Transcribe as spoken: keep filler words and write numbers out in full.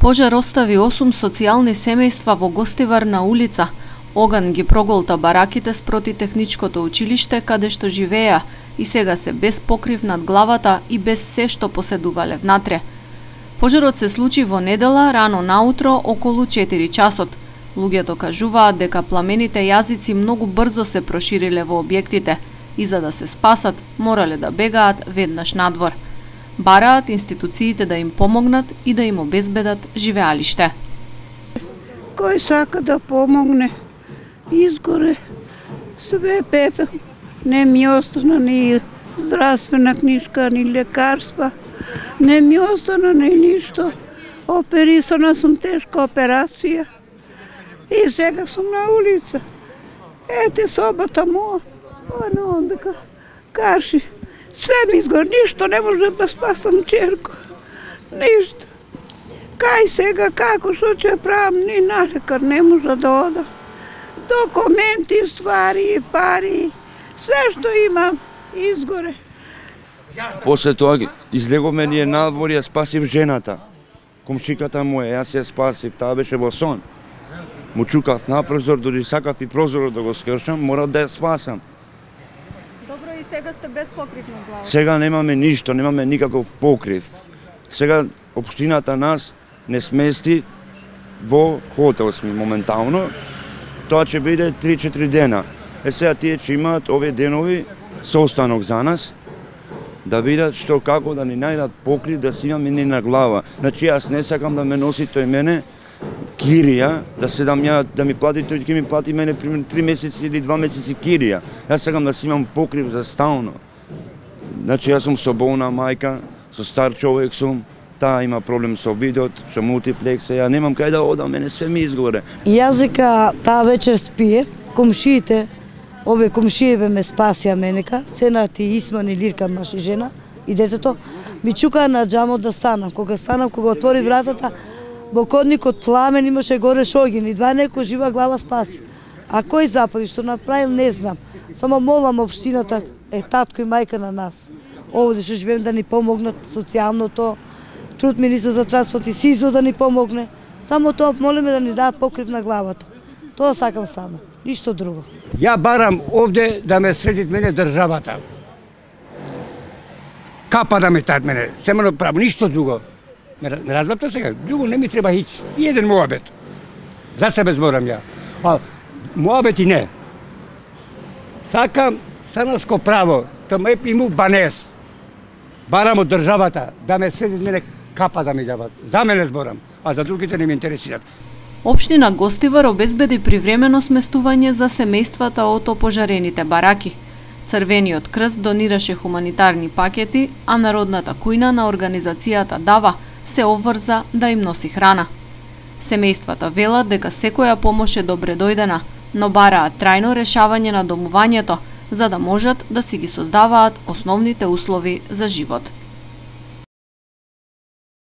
Пожар остави осум социјални семејства во Гостивар на улица. Оган ги проголта бараките спроти техничкото училиште каде што живееа и сега се без покрив над главата и без се што поседувале внатре. Пожарот се случи во недела рано наутро околу четири часот. Луѓето кажуваат дека пламените јазици многу брзо се прошириле во објектите и за да се спасат морале да бегаат веднаш надвор. Бараат институциите да им помогнат и да им обезбедат живеалиште. Кој сака да помогне, изгоре, све пепел, не ми остана ни здравствена книжка, ни лекарства, не ми остана ни ништо. Оперисана сум тешка операција и сега сум на улица. Ете собата моја, оно дека карши. Се ми изгор, ништо не може да спасам черко. Ништо. Кај сега, како, што ќе правам, ни на лекар не може да ода. Документи, ствари, пари, све што имам, изгоре. После тоа излеговме ние надвор, ја спасив жената. Комшиката моја, јас ја спасив, таа беше во сон. Му чукав на прозор, дори сакав и прозорот да го скршам, мора да ја спасам. Добро, и сега сте без покрив на глава. Сега немаме ништо, немаме никаков покрив. Сега општината нас не смести во хотел сме моментално. Тоа ќе биде три-четири дена. Е сега тие ќе имаат овие денови состанок за нас, да видат што како да ни најдат покрив да си имаме ни на глава. Значи јас не сакам да ме носи тој мене кирија, да се дам ја, да ми плати тој, ќе ми плати мене примерно три месеци или два месеци кирија. Јас сакам да си имам покрив за стално. Значи јас сум со болна мајка, со стар човек сум, таа има проблем со видот, со мултиплекс, ја немам кај да одам, мене све ми изгоре. Јас дека таа вечер спие, комшиите, овие комшиеве ме спасија менека, Сенат и Исман и Лирка, маж и жена, и детето, ми чукаа на џамот да станам. Кога станам, кога отвори вратата, во кодникот пламен имаше горе шогин и два некој жива глава спаси. А кој запали, што направил, не знам. Само молам општината, е татко и мајка на нас. Овде што живеем да ни помогнат социјалното, труд министер за транспорт и СИЗО да ни помогне. Само тоа молиме да ни дадат покрив на главата. Тоа сакам само, ништо друго. Ја барам овде да ме средит мене државата. Капа да ме тат мене, семено правам, ништо друго. Не разбавте сега, друго не ми треба хич. И еден моабет. За себе зборам ја. А моабет и не. Сакам станарско право, тоа ме иму банес. Барам од државата да ме средит мене капа да ми дават. За мене зборам, а за другите не ме интересират. Општина Гостивар обезбеди привремено сместување за семејствата од опожарените бараки. Црвениот крст донираше хуманитарни пакети, а Народната кујна на организацијата Дава се обврза да им носи храна. Семејствата велат дека секоја помош е добре дојдена, но бараат трајно решавање на домувањето, за да можат да си ги создаваат основните услови за живот.